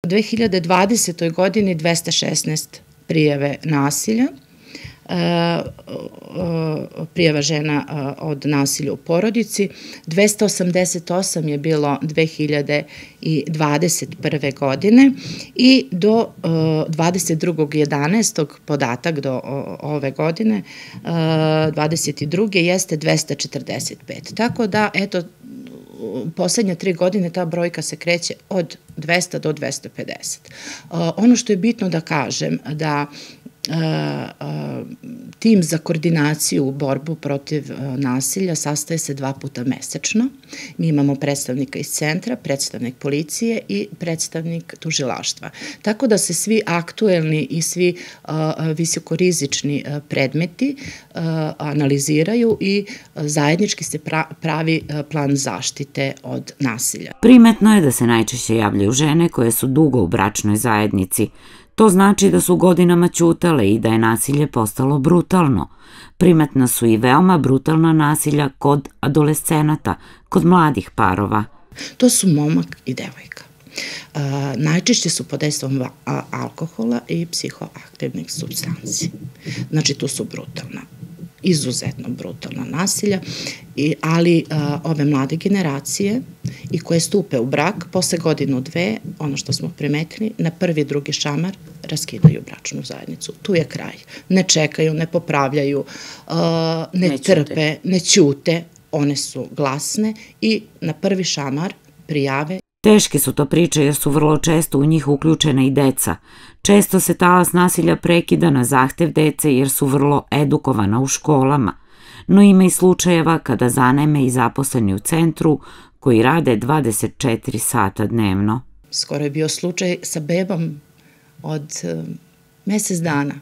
U 2020. godini 216 prijave nasilja, prijava žena od nasilja u porodici, 288 je bilo 2021. godine i do 22.11. podatak do ove godine, 22. jeste 245. Tako da, eto, u poslednje 3 godine ta brojka se kreće od 200 do 250. Ono što je bitno da kažem, da tim za koordinaciju u borbu protiv nasilja sastaje se 2 puta mesečno. Mi imamo predstavnika iz centra, predstavnik policije i predstavnik tužilaštva. Tako da se svi aktuelni i svi visokorizični predmeti analiziraju i zajednički se pravi plan zaštite od nasilja. Primetno je da se najčešće javljaju žene koje su dugo u bračnoj zajednici. To znači da su godinama ćutale i da je nasilje postalo brutalno. Primetna su i veoma brutalna nasilja kod adolescenata, kod mladih parova. To su momak i devojka. Najčešće su pod dejstvom alkohola i psihoaktivnih supstanci. Znači, tu su brutalna, izuzetno brutalna nasilja, ali ove mlade generacije i koje stupe u brak, posle godinu, 2, ono što smo primetili, na prvi, drugi šamar raskidaju bračnu zajednicu. Tu je kraj. Ne čekaju, ne popravljaju, ne trpe, ne ćute, one su glasne i na prvi šamar prijave. Teške su to priče jer su vrlo često u njih uključena i deca. Često se talas nasilja prekida na zahtev dece jer su vrlo edukovana u školama. No ima i slučajeva kada zaneme i zaposleni u centru koji rade 24 sata dnevno. Skoro je bio slučaj sa bebom od mesec dana.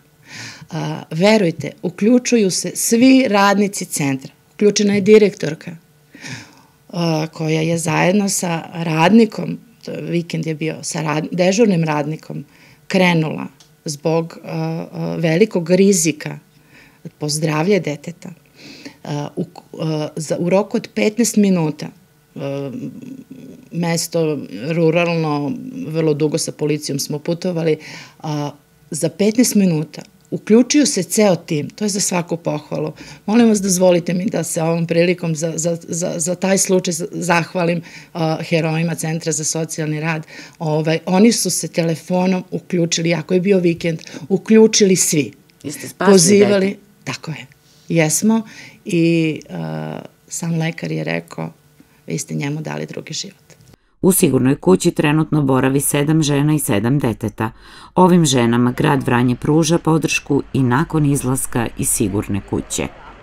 Verujte, uključuju se svi radnici centra. Uključena je direktorka koja je zajedno sa radnikom, vikend je bio, sa dežurnim radnikom, krenula zbog velikog rizika po zdravlje deteta. U roku od 15 minuta, mesto ruralno, vrlo dugo sa policijom smo putovali, za 15 minuta uključuju se ceo tim, to je za svaku pohvalu. Molim vas, dozvolite mi da se ovom prilikom za taj slučaj zahvalim herojima Centra za socijalni rad. Oni su se telefonom uključili, ako je bio vikend, uključili svi. Jeste spasili dete? Tako je, jesmo i sam lekar je rekao, vi ste njemu dali drugi život. U Sigurnoj kući trenutno boravi 7 žena i 7 deteta. Ovim ženama grad Vranje pruža podršku i nakon izlaska iz Sigurne kuće.